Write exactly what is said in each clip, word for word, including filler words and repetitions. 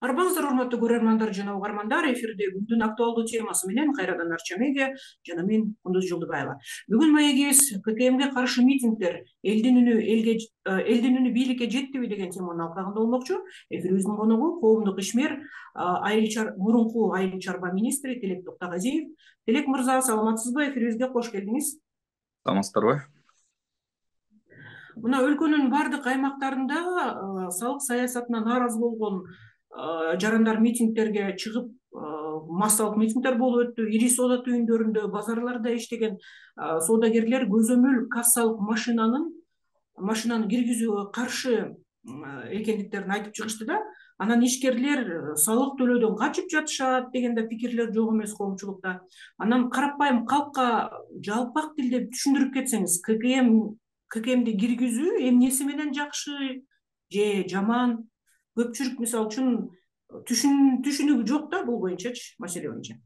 Арбаңыздар, урматтуу көрөрмандар жана угармандар, эфирде күндүн актуалдуу темасы менен кайрадан Арча медиа жана мен Кундуз Жолдубаева. Бүгүн маегибиз ККМге каршы митингдер элдин үнү элге элдин үнү бийликке жеттиби деген теманын алкагында болмокчу. Эфирибиздин коногу коомдук ишмер, айыл мурунку айыл чарба министри Тилек Токтогазиев. Тилек мырза, саламатсызбы? Эфирибизге кош келдиңиз. Саламатсыздарбы? Мына өлкөнүн бардык аймактарында салык саясатына нааразы болгон жарандар митингдерге чыгып, массалык митингдер болуп өттү. Ири соода түйүндөрүндө, базарларда иштеген соодагерлер көзөмөл кассалык машинанын машинаны киргизүүгө каршы экендиктерин айтып чыгышты да. Анан ишкерлер салык төлөөдөн качып жатышат деген да пикирлер жок эмес коомчулукта. Анан карапайым калкка жалпак тилде түшүндүрүп кетсеңиз, ККМ ККМди киргизүү эмнеси менен жакшы же жаман? Көпчүлүк мисалы үчүн түшүнүгү жок да бул боюнчачы, маселе боюнча.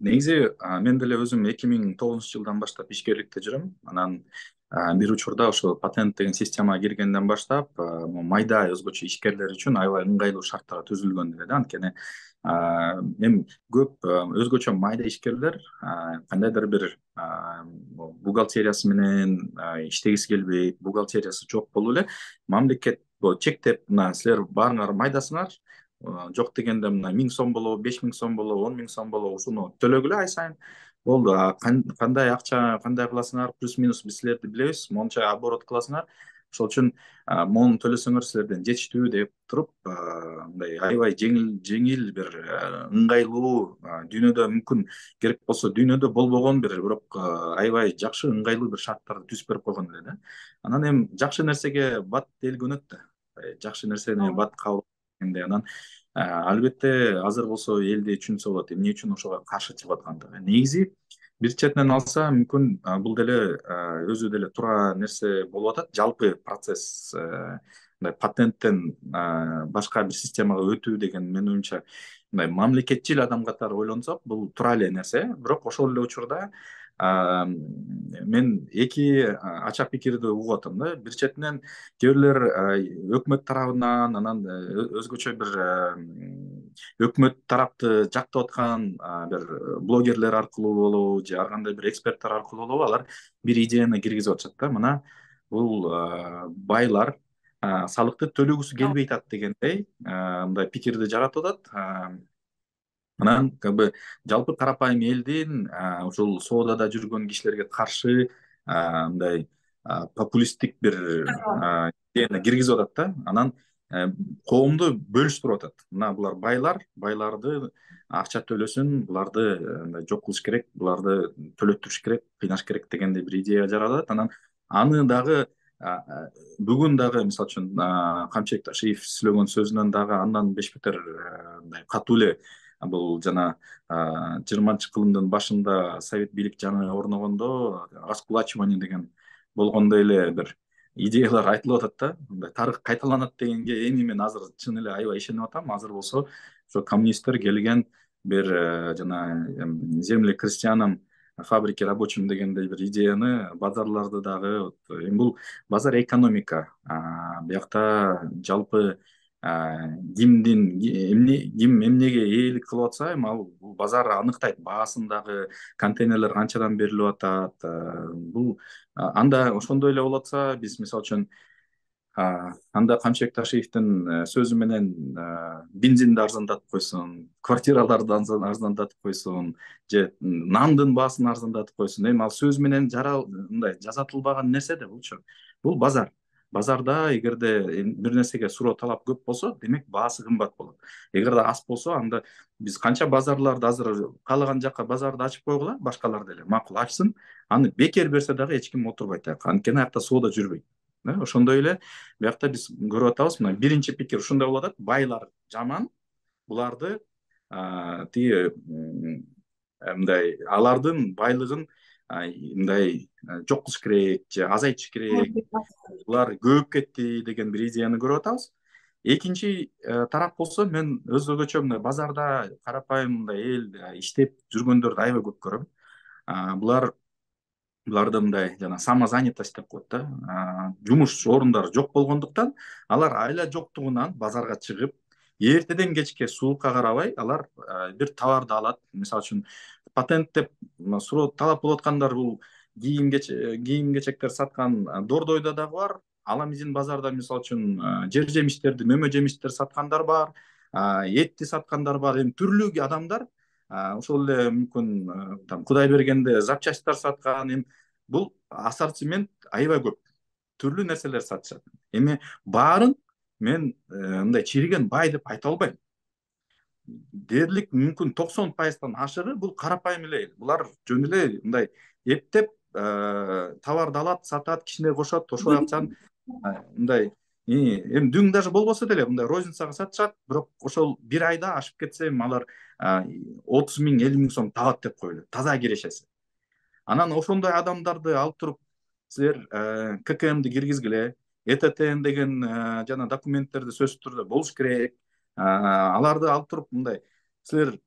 Негизи мен деле өзүм эки миң тогузунчу жылдан баштап ишкерликте жүрөм. Анан бир учурда ошо патент деген системага киргенден баштап майда өзгөчө ишкерлер үчүн аябай ыңгайлуу шарттар түзүлгөн эле да. Анткени эми көп өзгөчө майда ишкерлер кандайдыр бир бухгалтериясы менен иштегиси келбейт, бухгалтериясы жок болуп эле мамлекет чектеп, мына силер баарыңар майдасыңар, жок дегенде мына миң сом болобу, беш миң сом болобу, он миң сом болобу, ушуну төлөгүлө ай сайын. Болду, кандай акча, кандай кыласыңар, плюс-минус биз силерди билебиз, монча оборот кыласыңар. Ошол үчүн мону төлөсөңөр силерден жетиштүү деп туруп, мындай аябай жеңил жеңил бир ыңгайлуу, дүйнөдө мүмкүн керек болсо дүйнөдө болбогон бир, бирок аябай жакшы ыңгайлуу бир шарттарды түзүп берип койгон эле да. Анан эми жакшы нерсеге бат эл көнөт да. Жакшы нерсени бат кабыл эткенде анан албетте азыр болсо элди түшүнсө болот, эмне үчүн ошого каршы чыгып аткандыгы. Негизи бир четинен алса мүмкүн бул деле өзү деле туура нерсе болуп атат. Жалпы процесс мындай патенттен башка бир системага өтүү деген менин оюмча мындай мамлекетчил адам катары ойлонсок бул туура эле нерсе. Бирок ошол эле учурда мен эки ача пикирди угуп атам да. Бир четинен кээ бирлер өкмөт тарабынан, анан өзгөчө бир өкмөт тарапты жактап аткан бир блогерлер аркылуу болобу же ар кандай бир эксперттер аркылуу болобу алар бир идеяны киргизип атышат да. Мына бул байлар салыкты төлөгүсү келбей атат дегендей мындай пикирди жаратып атат. Анан как бы жалпы карапайым элдин ушул соодада жүргөн кишилерге каршы мындай популисттик бир идеяны киргизип атат да. Анан коомду бөлүштүрүп атат. Мына булар байлар, байларды акча төлөсүн, буларды мындай жок кылыш керек, буларды төлөттүрүш керек, кыйнаш керек дегендей бир идея жаратат. Анан аны дагы бүгүн дагы мисалы үчүн Камчыбек Ташиев сүйлөгөн сөзүнөн дагы андан беш бетер мындай катуу эле бул жана жыйырманчы кылымдын башында совет бийлик жаңы орногондо раскулачивание деген болгондой эле бир идеялар айтылып атат да. Мындай тарых кайталанат дегенге эми мен азыр чын эле аябай ишенип атам. Азыр болсо ошо коммунисттер келген бир жана земли крестьянам, фабрики рабочим дегендей бир идеяны базарларды дагы, эми бул базар экономика. Биякта жалпы кимдин эмне ким эмнеге ээлик кылып атса, эми ал бул базар аныктайт. Баасын дагы, контейнерлер канчадан берилип атат. Бул анда ошондой эле болуп атса, биз мисалы үчүн анда Камчыбек Ташиевдин сөзү менен бензинди арзандатып койсун, квартираларды арзандатып койсун, же нандын баасын арзандатып койсун. Эми ал сөз менен мындай жазатылбаган нерсе да булчу. Бул базар. Базарда эгерде бир нерсеге суроо талап көп болсо, демек баасы кымбат болот. Эгерде аз болсо, анда биз канча базарларды азыр каалаган жакка базарды ачып койгула, башкалар деле макул ачсын. Аны бекер берсе дагы эч ким отурбайт. Анткени аякта соода жүрбөйт. Ошондой эле биякта биз көрүп атабыз, мына биринчи пикир ушундай болуп атат: байлар жаман, буларды тиги мындай алардын байлыгын мындай жок кылыш керек же азайтыш керек, булар көбөйүп кетти деген бир идеяны көрүп атабыз. Экинчи тарап болсо, мен өзгөчө мындай базарда карапайым мындай эл иштеп жүргөндөрдү аябай көп көрөм. Булар буларда мындай жана самозанятость деп коет да, жумуш орундары жок болгондуктан алар айла жоктугунан базарга чыгып эртеден кечке сулукка карабай алар бир товарды алат. Мисалы үчүн патент деп суроо талап кылып аткандар бул кийим кийим кечектер саткан Дордойдо дагы бар. Аламизин базарда мисалы үчүн жер жемиштерди, мөмө жемиштер саткандар бар, этти саткандар бар. Эми түрлүү адамдар ошол эле мүмкүн там Кудай бергенде запчасттар саткан. Эми бул ассортимент аябай көп, түрлүү нерселер сатышат. Эми баарын мен мындай чириген бай деп айта албайм. Дээрлик мүмкүн токсон пайыздан ашыгы бул карапайым эле эл. Булар жөн эле мындай эптеп товарды алат, сатат, кичине кошот, ошол акчаны мындай эми дүң даже болбосо деле мындай розницага сатышат, бирок ошол бир айда ашып кетсе алар отуз миң, элүү миң сом табат деп коелу, таза кирешеси. Анан ошондой адамдарды алып туруп силер ка ка эмди киргизгиле, э тэ тэ эн деген жана документтерди сөзсүз түрдө болуш керек. Аларды алып туруп мындай силер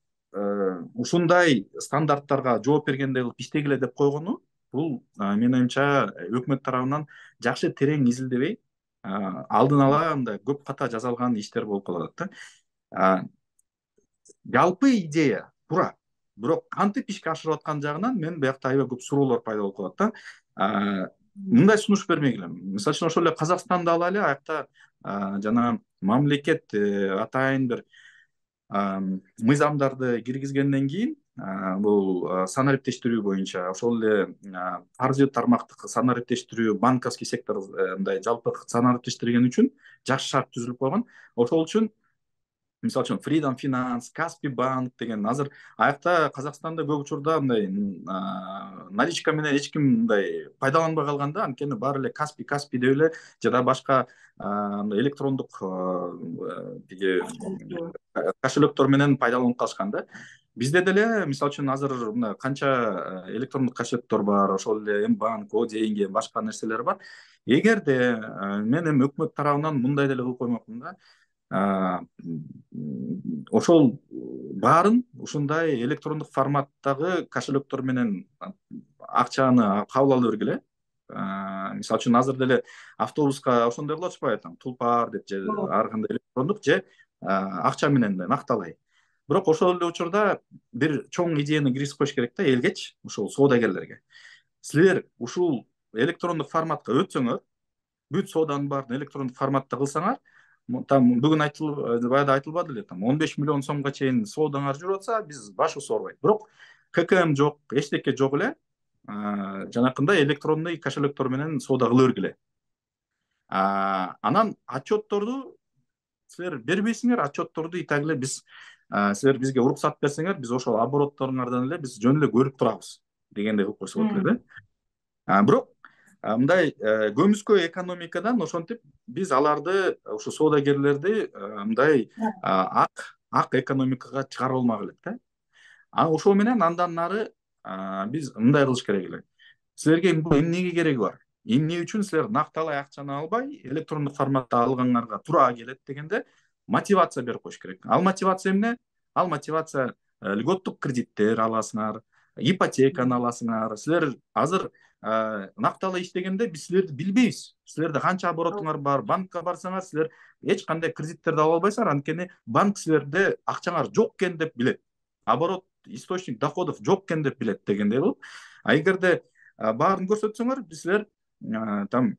ушундай стандарттарга жооп бергендей кылып иштегиле деп койгону бул менин оюмча өкмөт тарабынан жакшы терең изилдебей алдын ала мындай көп ката жасалган иштер болуп калып атат да. Жалпы идея туура, бирок кантип ишке ашырып аткан жагынан мен биякта аябай көп суроолор пайда болуп калат да. Мындай сунуш бермегиле. Мисалы үчүн ошол эле Казакстанды алайлы, аякта жана мамлекет атайын бир мыйзамдарды киргизгенден кийин бул санариптештирүү боюнча ошол эле каржы тармактык санариптештирүү, банковский сектор мындай жалпы санариптештирген үчүн жакшы шарт түзүлүп койгон. Ошол үчүн мисалы үчүн Freedom Finance, Каспий банк деген азыр аякта Казакстанда көп учурда мындай наличка менен эч ким мындай пайдаланбай калган да, анткени баары эле Каспий, Каспий деп эле жада башка электрондук кошелектор менен пайдаланып калышкан да. Бизде деле мисалы үчүн азыр мына канча электрондук кошелектор бар, ошол эле М-банк, О деньги, башка нерселер бар. Эгерде мен эми өкмөт тарабынан мындай деле кылып коймокмун да. Ошол баарын ушундай электрондук форматтагы кошелектор менен акчаны кабыл ала бергиле. Мисалы үчүн азыр деле автобуска ошондой кылып атышпайбы, там Тулпар деп же ар кандай электрондук же акча менен накталай. Бирок ошол эле учурда бир чоң идеяны киргизип коюш керек да элгечи, ушул соодагерлерге. Силер ушул электрондук форматка өтсөңөр, бүт сооданын баарын электрондук форматта кылсаңар, там бүгүн айтылып, баягы айтылбады эле, там он беш миллион сомго чейин соодаңар жүрүп атса, биз башыбыз оорубайт. Бирок ка ка эм жок, эчтеке жок эле. Жанакындай электронный кошелектор менен соода кыла бергиле. Анан отчетторду силер бербейсиңер, отчетторду итак эле биз силер бизге уруксат берсеңер, биз ошол оборотторуңардан эле биз жөн эле көрүп турабыз дегендей кылып койсо болот эле да. Бирок мындай көмүскө экономикадан ошентип биз аларды, ушу соодагерлерди мындай ак ак экономикага чыгарып алмак элек да. А ошол менен андан нары биз мындай кылыш керек эле. Силерге эмнеге кереги бар? Эмне үчүн силер накталай акчаны албай электрондук форматта алгандарга туура келет дегенде мотивация берип коюш керек. Ал мотивация эмне? Ал мотивация льготтук кредиттер аласыңар, ипотеканы аласыңар. Силер азыр накталай иштегенде биз силерди билбейбиз. Силерде канча оборотуңар бар, банкка барсаңар, силер эч кандай кредиттерди ала албайсыңар, анткени банк силерде акчаңар жок экен деп билет. Оборот, источник доходов жок экен деп билет дегендей кылып. А эгерде баарын көрсөтсөңөр, биз силер там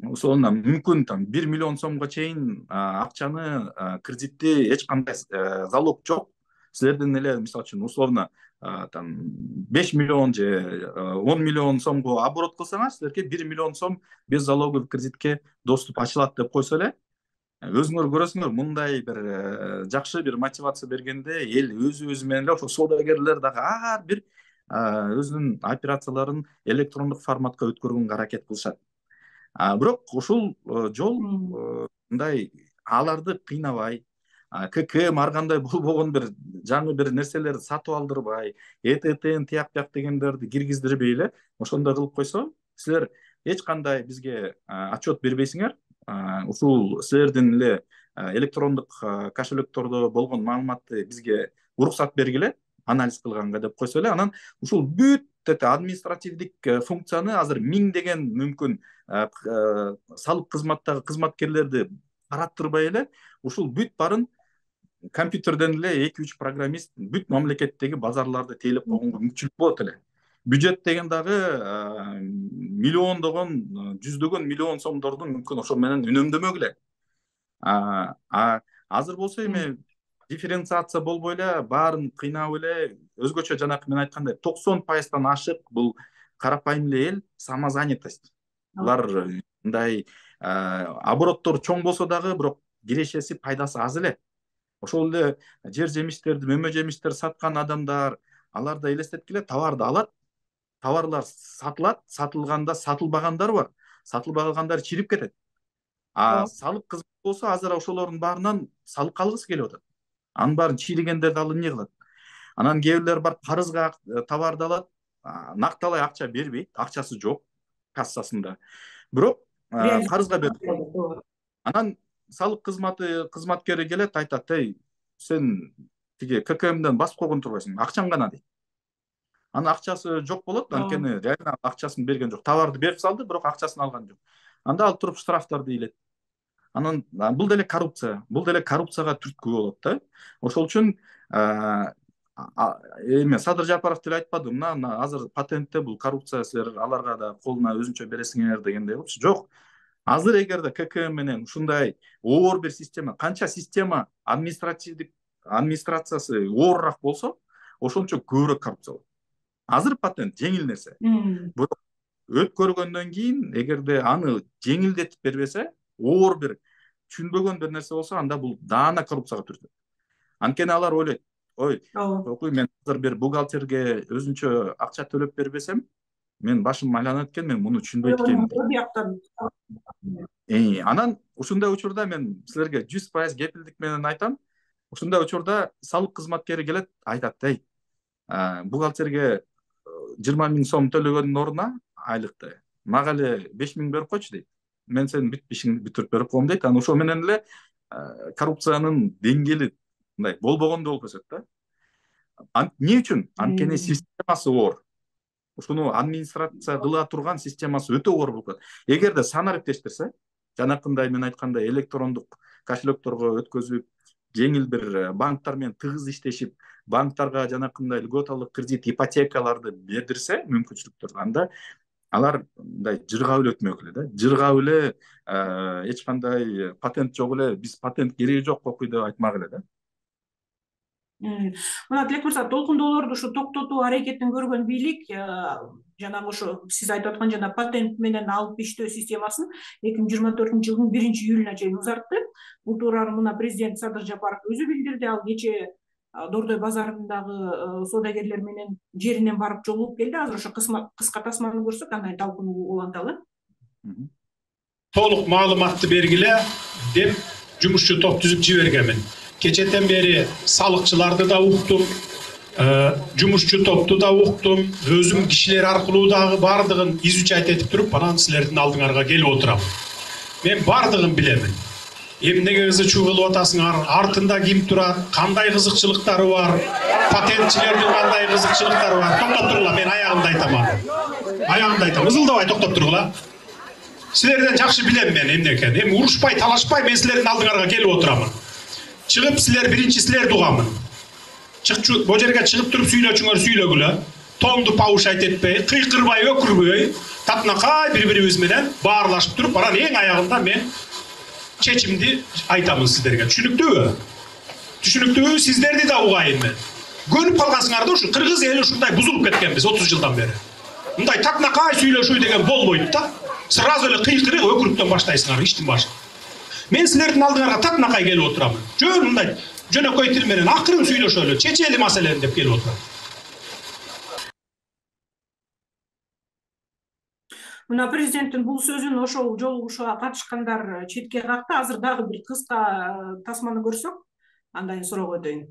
ошондо мүмкүн там бир миллион сомго чейин акчаны, кредитти эч кандай залог жок. Силердин эле мисалы үчүн условно там беш миллион же он миллион сомго оборот кылсаңар, силерге бир миллион сом без залоговый кредитке доступ ачылат деп койсо эле, өзүңөр көрөсүңөр, мындай бир жакшы бир мотивация бергенде эл өзү өзү менен эле ошо соодагерлер дагы ар бир өзүнүн операцияларын электрондук форматка өткөргөнгө аракет кылышат. Бирок ушул жол мындай аларды кыйнабай, ка ка эм ар кандай болбогон бир жаңы бир нерселерди сатып алдырбай, э тэ тэ тияк бияк дегендерди киргиздирбей эле ошондой кылып койсо, силер эч кандай бизге отчет бербейсиңер. Ушул силердин эле электрондук кошелектордо болгон маалыматты бизге уруксат бергиле, анализ кылганга деп койсо эле, анан ушул бүт эти административдик функцияны азыр миңдеген мүмкүн салык кызматтагы кызматкерлерди караттырбай эле ушул бүт барын компьютерден эле эки үч программист бүт мамлекеттеги базарларды тейлеп койгонго мүмкүнчүлүк болот эле. Бюджет деген дагы миллиондогон, жүздөгөн миллион сомдорду мүмкүн ошол менен үнөмдөмөк эле. А азыр болсо эми дифференциация болбой эле баарын кыйнап эле өзгөчө жанакы мен айткандай токсон пайыздан ашык бул карапайым эле эл самозанятость. Булар мындай обороттору чоң болсо дагы бирок кирешеси пайдасы аз эле. Ошол эле жер жемиштерди, мөмө жемиштер саткан адамдар, алар да элестеткиле товарды алат, товарлар сатылат, сатылганда сатылбагандар бар, сатылбагандар чирип кетет. А салык кызмат болсо азыр ошолордун баарынан салык алгысы келип атат. Анын баарын чиригендерди алып эмне кылат? Анан кээ бирлер бар карызга товарды алат, накталай акча бербейт, акчасы жок кассасында. Бирок карызга берет. Анан салык кызматы кызматкери келет, айтат: "Эй, сен тиги ка ка эмден басып койгон турбайсың, акчаң кана" дейт. Анын акчасы жок болот, анткени реально акчасын берген жок. Товарды берип салды, бирок акчасын алган жок. Анда алып туруп штрафтарды илет. Анан бул деле коррупция, бул деле коррупцияга түрткү болот да. Ошол үчүн эме Садыр Жапаров деле айтпады, мына азыр патентте бул коррупция, силер аларга да колуна өзүнчө бересиңер дегендей болчу. Жок. Азыр эгерде ка ка эм менен ушундай оор бир система, канча система административдик администрациясы оорураак болсо, ошончо көбүрөөк коррупция болот. Азыр патент жеңил нерсе. Бирок өткөргөндөн кийин эгерде аны жеңилдетип бербесе, оор бир түшүнбөгөн бир нерсе болсо, анда бул даана коррупцияга түртөт. Анткени алар ойлойт: "Ой, окуй, мен азыр бир бухгалтерге өзүнчө акча төлөп бербесем, мен башым айланат экен, мен муну түшүнбөйт экенмин." Э, анан ушундай учурда мен силерге жүз пайыз кепилдик менен айтам, ушундай учурда салык кызматкери келет, айтат: "Эй, бухгалтерге жыйырма миң сом төлөгөндүн ордуна айлыкты, мага эле беш миң берип койчу" дейт. "Мен сенин бүт ишиңди бүтүрүп берип коем" дейт. Анан ошол менен эле коррупциянын деңгээли мындай болбогондой болуп өсөт да. Эмне үчүн? Анткени системасы оор. Ушуну администрация кыла турган системасы өтө оор болуп калат. Эгерде санариптештирсе, жанакындай мен айткандай электрондук кошелекторго өткөзүп, жеңил бир банктар менен тыгыз иштешип, банктарга жанакындай льготалык кредит, ипотекаларды бердирсе, мүмкүнчүлүктөр, анда алар мындай жыргап эле өтмөк эле да. Жыргап эле эч кандай патент жок эле, биз патент кереги жок окуй деп айтмак эле да. Мына Тилек мырза, толкундоолорду ушу токтотуу аракетин көргөн бийлик жанагы ошо сиз айтып аткан жана патент менен алып иштөө системасын эки миң жыйырма төртүнчү жылдын биринчи июлуна чейин узартты. Бул тууралуу мына президент Садыр Жапаров өзү билдирди. Ал кечээ Дордой базарындагы соодагерлер менен жеринен барып жолугуп келди. Азыр ошо кыска тасманы көрсөк, кандай талкуу уланталы. Толук маалыматты бергиле деп жумушчу топ түзүп жибергенмин. Кечетен бери салыкчыларды да уктум, жумушчу топту да уктум, өзүм кишилер аркылуу дагы бардыгын изучать этип туруп, анан силердин алдыңарга келип отурам. Мен бардыгын билемин. Эмнеге ызы-чуу кылып атасыңар, артында ким турат, кандай кызыкчылыктары бар, патентчилердин кандай кызыкчылыктары бар. Токтоп тургула, мен аягымды айтам. Аягымды айтам. Ызылдабай токтоп тургула. Силерден жакшы билем мен эмне экенин. Эми урушпай, талашпай мен силердин алдыңарга келип отурамын. Чыгып силер биринчи силерди угамын. Чыкчу бу жерге чыгып туруп сүйлөчүңөр сүйлөгүлө. Тоңду паушайт этпей, кыйкырбай, өкүрбөй, татынакай бири-бирибиз менен баарлашып туруп, анан эң аягында мен чечимди айтамын сиздерге. Түшүнүктүүбү? Түшүнүктүүбү? Сиздерди да угайын мен. Көнүп калгансыңар да, ушу кыргыз эли ушундай бузулуп кеткенбиз отуз жылдан бери. Мындай татынакай сүйлөшүү деген болбойт да. Сразу эле кыйкырып, өкүрүктөн баштайсыңар иштин башы. Мен силердин алдыңарга татынакай келип отурамын. Жөн мындай жөнөкөй тил менен акырын сүйлөшөлү, чечели маселени деп келип отурам. Мына президенттин бул сөзүн ошол жолугушууга катышкандар четке какты. Азыр дагы бир кыска тасманы көрсөк, андан кийин суроого өтөйүн.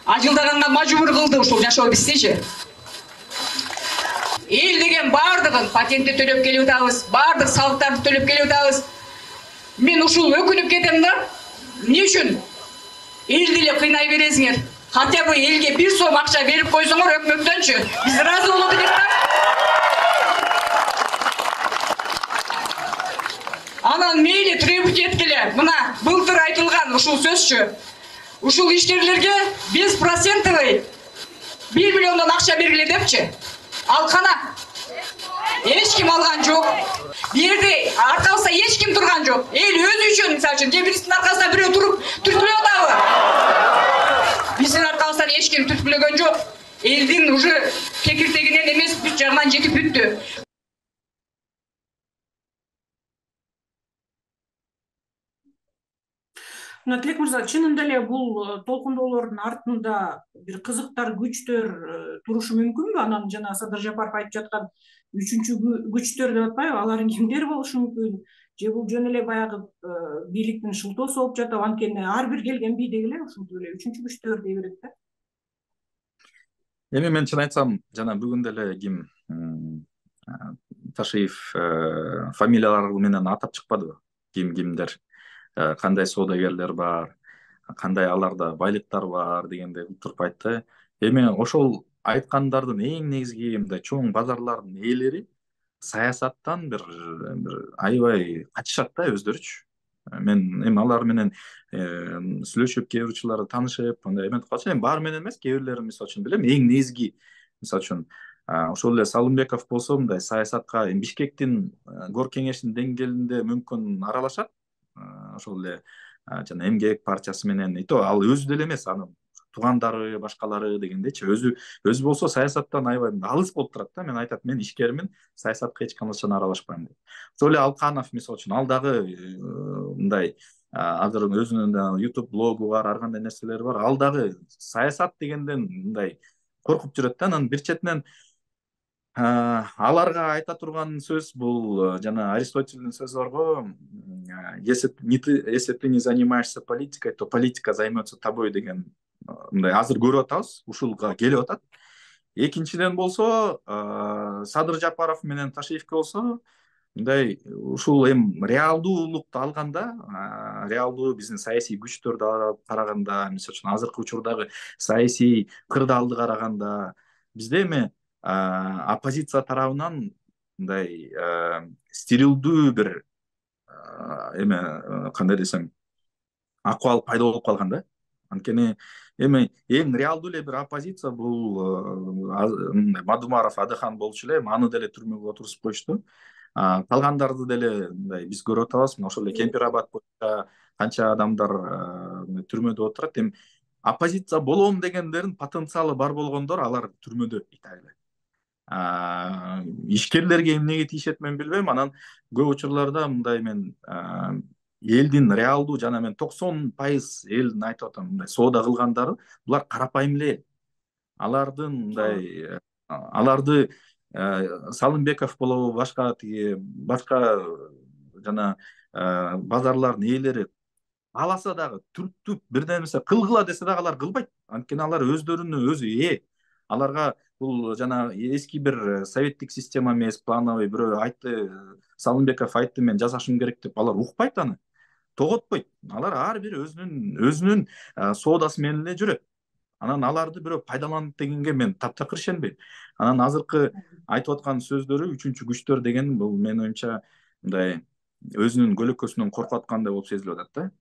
Ажылдаганга мажбур кылды ушул жашоо бизчи. Эл деген бардыгын патентти төлөп келип атабыз, бардык салыктарды төлөп келип атабыз. Мен ушул өкүнүп кетем да. Эмне үчүн элди эле кыйнай бересиңер? Хотя бы элге бир сом акча берип койсоңор өкмөттөнчү. Биз ыраазы болот элек да. Анан мейли требовать эткиле. Мына былтыр айтылган ушул сөзчү. Ушул ишкерлерге беш процентовый бир миллиондон акча бергиле депчи. Ал кана? Эч ким алган жок. Бу жерде аркабызда эч ким турган жок. Эл өзү үчүн, мисалы үчүн, же бириздин аркасынан бирөө туруп түрткүлөп атабы? Биздин аркабыздан эч ким түрткүлөгөн жок. Элдин уже кекиртегинен эмес бүт жагынан жетип бүттү. Мына Тилек мырза, чынында эле бул толкундоолордун артында бир кызыктар, күчтөр турушу мүмкүнбү? Анан жана Садыр Жапаров айтып жаткан үчүнчү күчтөр деп атпайбы? Алар кимдер болушу мүмкүн? Же бул жөн эле баягы бийликтин шылтоосу болуп жатабы? Анткени ар бир келген бийдеги эле ушинтип эле үчүнчү күчтөр дей берет да. Эми мен чын айтсам, жана бүгүн деле ким Ташиев фамилиялары менен атап чыкпадыбы? Ким кимдер, кандай соодагерлер бар, кандай аларда байлыктар бар дегенде туруп айтты. Эми ошол айткандардын эң негизги мындай чоң базарлардын ээлери саясаттан бир бир аябай качышат да өздөрүчү. Мен эми алар менен сүйлөшүп, кээ бир учурларда таанышып, мындай эметип калчу. Эми баары менен эмес, кээ бирлерин мисалы үчүн билем. Эң негизги мисалы үчүн ошол эле Салымбеков болсо, мындай саясатка Бишкектин гор кеңешинин деңгээлинде мүмкүн аралашат. Ошол эле жана Эмгек партиясы менен, и то ал өзү деле эмес, анын туугандары, башкалары дегендечи, өзү өзү болсо саясаттан аябай алыс болуп турат да. Мен айтат, мен ишкермин, саясатка эч качан аралашпайм деп. Ошол эле Алканов мисалы үчүн, ал дагы мындай азыр өзүнүн YouTube блогу бар, ар кандай нерселери бар. Ал дагы саясат дегенден мындай коркуп жүрөт да. Анан бир четинен аларга айта турган сөз бул жана Аристотельдин сөзү бар го. Если если ты не занимаешься политикой, то политика займется тобой деген мындай азыр көрүп атабыз, ушулга келип атат. Экинчиден болсо, Садыр Жапаров менен Ташиевке болсо, мындай ушул эми реалдуулукту алганда, реалдуу биздин саясий күчтөрдү караганда, мисалы үчүн азыркы учурдагы саясий кырдаалды караганда, бизде эми оппозиция тарабынан мындай стерилдүү бир эме, кандай десем, акыбал пайда болуп калган да. Анткени эми эң реалдуу эле бир оппозиция бул Мадумаров Адыхан болчу эле, аны деле түрмөгө отургузуп коюшту. Калгандарды деле мындай биз көрүп атабыз. Ошол эле Кемпирабад боюнча канча адамдар түрмөдө отурат. Эми оппозиция болом дегендердин потенциалы бар болгондор алар түрмөдө Италияда. Ишкерлерге эмнеге тийишет мен билбейм. Анан көп учурларда мындай мен элдин реалдуу жана мен токсон пайыз элдин айтып атам, мындай соода кылгандары булар карапайым эле. Алардын мындай аларды Салымбеков болобу, башка тиги башка жана базарлардын ээлери аласа дагы түртүп бирден нерсе кылгыла десе дагы алар кылбайт. Анткени алар өздөрүнө өзү ээ. Аларга бул жана эски бир советтик система эмес, плановый бирөө айтты, Салымбеков айтты, мен жасашым керек деп, алар укпайт аны. Тоготпойт. Алар ар бир өзүнүн өзүнүн соодасы менен эле жүрөт. Анан аларды бирөө пайдаланат дегенге мен таптакыр ишенбейм. Анан азыркы айтып аткан сөздөрү үчүнчү күчтөр деген бул менин оюмча мындай өзүнүн көлөкөсүнөн коркуп аткандай болуп сезилип атат да.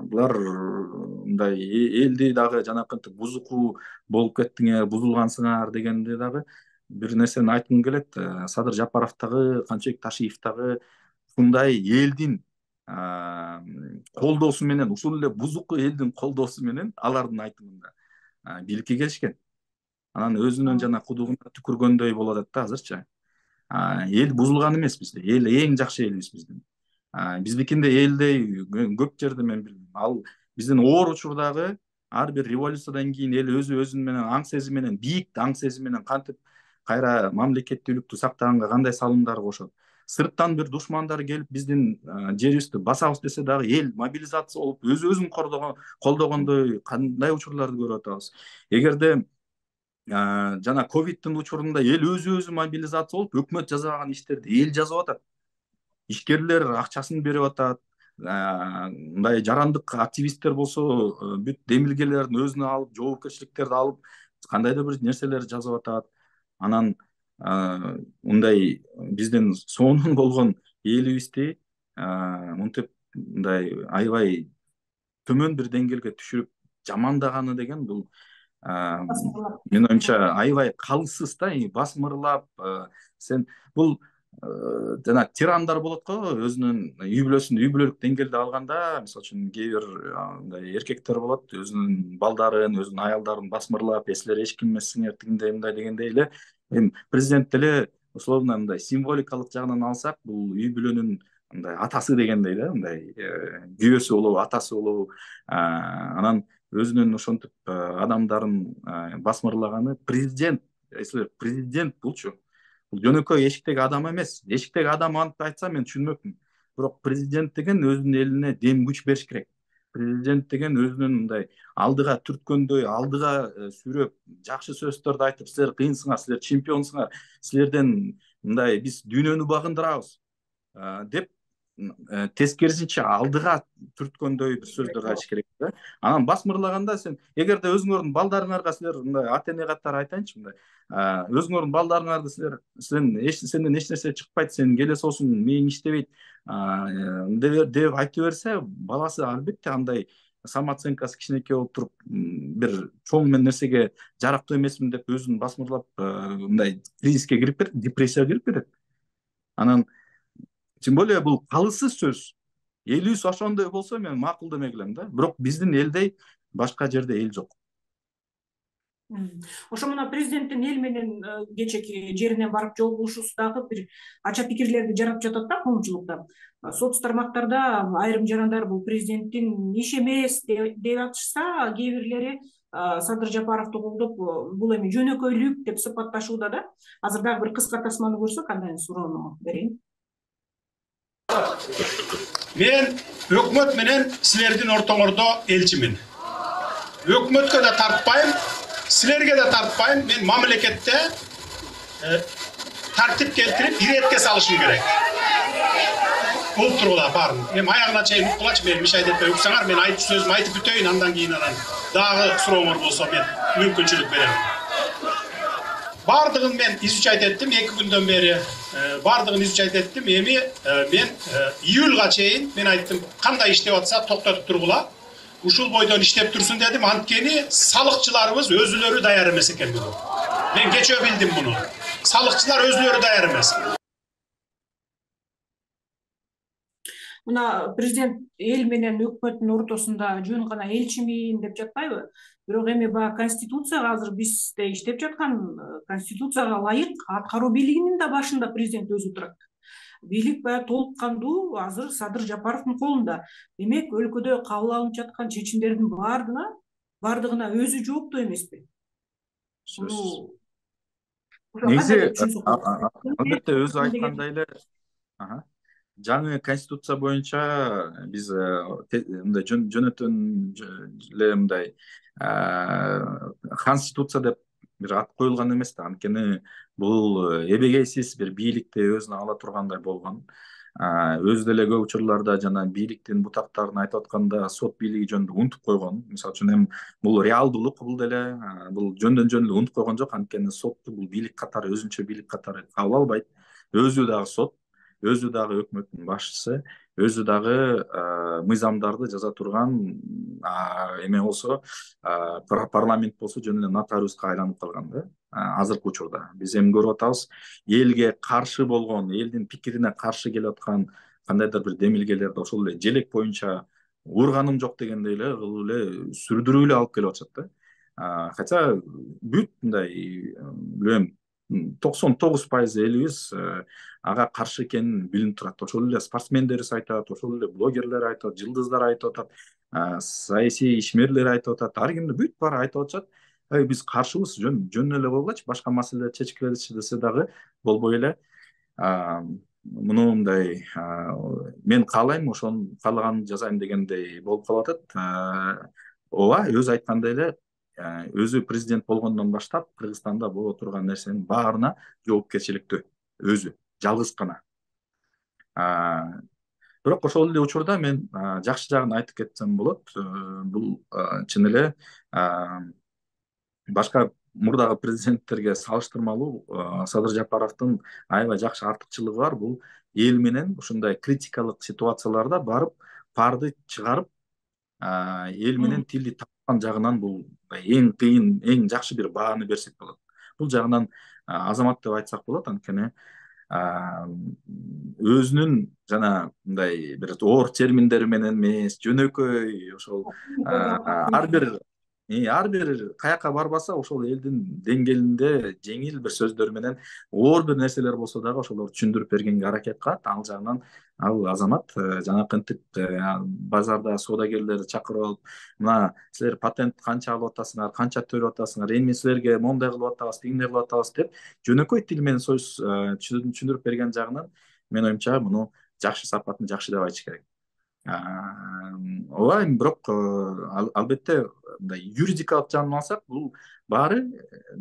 Булар мындай элди дагы жанакынтип бузуку болуп кеттиңер, бузулгансыңар дегенде дагы бир нерсени айткым келет. Садыр Жапаров дагы, Канчыбек Ташиев дагы ушундай элдин колдоосу менен, ушул эле бузуку элдин колдоосу менен алардын айтымында бийликке келишкен. Анан өзүнүн жана кудугуна түкүргөндөй болуп атат да азырчы. Эл бузулган эмес бизде. Эл эң жакшы элбиз биздин. Биздикинде элдей көп жерде мен билбейм. Ал биздин оор учурдагы ар бир революциядан кийин эл өзү өзүнүн менен аң сезими менен, бийик аң сезими менен кантип кайра мамлекеттүүлүктү сактаганга кандай салымдар кошот. Сырттан бир душмандар келип биздин жерибизди басабыз десе дагы эл мобилизация болуп өз өзүн колдогондой кандай учурларды көрүп атабыз. Эгерде жана ковидтин учурунда эл өзү өзү мобилизация болуп өкмөт жазбаган иштерди эл жазып атат. Ишкерлер акчасын берип атат, мындай жарандык активисттер болсо бүт демилгелерин өзүнө алып, жоопкерчиликтерди алып, кандайдыр бир нерселер жазып атат. Анан мындай биздин сонун болгон элибизди мынтип мындай аябай төмөн бир деңгээлге түшүрүп жамандаганы деген бул менин оюмча аябай калыссыз да, басмырлап. Сен бул жана тирандар болот го, өзүнүн үй бүлөсүн үй бүлөлүк деңгээлде алганда, мисалы үчүн кээ бир мындай эркектер болот, өзүнүн балдарын, өзүнүн аялдарын басмырлап, эсилер эч ким эмессиңер, тигиндей мындай дегендей эле. Эми президент деле условно мындай символикалык жагынан алсак, бул үй бүлөнүн мындай атасы дегендей да, мындай күйөөсү болобу, атасы болобу. Анан өзүнүн ошентип адамдарын басмырлаганы президент, эсилер президент булчу. Бул жөнөкөй эшиктеги адам эмес. Эшиктеги адам антип айтса мен түшүнмөкмүн. Бирок президент деген өзүнүн элине дем күч бериш керек. Президент деген өзүнүн мындай алдыга түрткөндөй, алдыга сүйрөп, жакшы сөздөрдү айтып, силер кыйынсыңар, силер чемпионсуңар, силерден мындай биз дүйнөнү багындырабыз деп тескерисинче алдыга түрткөндөй бир сөздөрдү айтыш керек да. Анан басмырлаганда сен эгерде өзүңөрдүн балдарыңарга силер мындай ата эне катары айтайынчы, мындай өзүңөрдүн балдарыңарды силер сен эч сенден эч нерсе чыкпайт, сенин келе соосуң мээң иштебейт деп айтып берсе, баласы албетте андай самооценкасы кичинекей болуп туруп, бир чоң мен нерсеге жарактуу эмесмин деп өзүн басмырлап мындай кризиске кирип кетет, депрессияга кирип кетет. Анан тем более бул калыссыз сөз. Элибиз ошондой болсо мен макул демек элем да. Бирок биздин элдей башка жерде эл жок. Ошо мына президенттин эл менен кечеки жерине барып жолугушуусу дагы бир ача пикирлерди жаратып жатат да коомчулукта. Соц тармактарда айрым жарандар бул президенттин иш эмес деп атышса, кээ бирлери Садыр Жапаровду колдоп, бул эми жөнөкөйлүк деп сыпатташууда да. Азыр дагы бир кыска тасманы көрсөк, андан суроону берейин. Мен өкмөт менен силердин ортоңордо элчимин. Өкмөткө да тартпайм, силерге да тартпайм. Мен мамлекетте тартип келтирип, иретке салышым керек. Бул тургула барын. Эми аягына чейин уккулачы, мен миш айдетпей уксаңар, мен айтып сөзүмдү айтып бүтөйүн, андан кийин анан дагы сурооңор болсо мен мүмкүнчүлүк берем. Бардыгын мен изучать еттим, эки күндөн бери бардыгын изучать еттим. Эми мен июлга чейин мен айттым, кандай иштеп атса токтотуп тургула. Ушул бойдон иштеп турсун дедим, анткени салыкчыларыбыз өзүлөрү даяр эмес экен бул. Мен кечөө билдим муну. Салыкчылар өзүлөрү даяр эмес. Мына президент эл менен өкмөттүн ортосунда жөн гана элчимин деп жатпайбы? Бирок эми баягы конституцияга азыр бизде иштеп жаткан конституцияга ылайык аткаруу бийлигинин да башында президент өзү турат. Бийлик баягы толук кандуу азыр Садыр Жапаровдун колунда. Демек, өлкөдө кабыл алынып жаткан чечимдердин баардыгына баардыгына өзү жооптуу эмеспи? Негизи албетте өзү айткандай эле жаңы конституция боюнча биз мындай жөнөтөн эле мындай конституция деп бир ат коюлган эмес да, анткени бул эбегейсиз бир бийликти өзүнө ала тургандай болгон. Өзү деле көп учурларда жана бийликтин бутактарын айтып атканда сот бийлиги жөнүндө унутуп койгон. Мисалы үчүн эми бул реалдуулук, бул деле бул жөндөн жөн эле унутуп койгон жок, анткени сотту бул бийлик катары, өзүнчө бийлик катары кабыл албайт. Өзү дагы сот, өзү дагы өкмөттүн башчысы, өзү дагы мыйзамдарды жаза турган эме болсо, парламент болсо жөн эле нотариуска айланып калган да азыркы учурда. Биз эми көрүп атабыз, элге каршы болгон, элдин пикирине каршы келип аткан кандайдыр бир демилгелерди ошол эле желек боюнча урганым жок дегендей эле кылып эле сүрдүрүп эле алып келип атышат да. Хотя бүт мындай билем токсон тогуз пайыз элибиз ага каршы экенин билинип турат. Ошол эле спортсмендерибиз айтат, ошол эле блогерлер айтат, жылдыздар айтып атат, саясий ишмерлер айтып атат, ар кимди бүт баары айтып атышат. Биз каршыбыз, жөн жөн эле болгачы, башка маселелер чечкилечи десе дагы болбой эле. Муну мындай мен каалайм, ошону каалаганымды жасайм дегендей болуп калып атат. Ооба, өзү айткандай эле, өзү президент болгондон баштап Кыргызстанда боло турган нерсенин баарына жоопкерчиликтүү, өзү жалгыз гана. Бирок ошол эле учурда мен жакшы жагын айтып кетсем болот. Бул чын эле башка мурдагы президенттерге салыштырмалуу Садыр Жапаровдун аябай жакшы артыкчылыгы бар. Бул эл менен ушундай критикалык ситуацияларда барып парды чыгарып, эл менен тилди тапкан жагынан бул эң кыйын, эң жакшы бир бааны берсек болот. Бул жагынан азамат деп айтсак болот. Анткени өзүнүн жана мындай бир оор терминдери менен эмес, жөнөкөй ошол ар бир ар бир каяка барбаса ошол элдин деңгээлинде жеңил бир сөздөр менен оор бир нерселер болсо дагы ошолорду түшүндүрүп бергенге аракет кылат. Ал жагынан ал азамат жанакынтип базарда соодагерлерди чакырып алып, мына силер патент канча алып атасыңар, канча төлөп атасыңар, эми силерге моундай кылып атабыз, тигиндей кылып атабыз деп жөнөкөй тил менен сөз түшүндүрүп берген жагынан менин оюмча муну жакшы сапатын жакшы деп айтыш керек. Ооба, бирок албетте мындай юридикалык жагын алсак, бул баары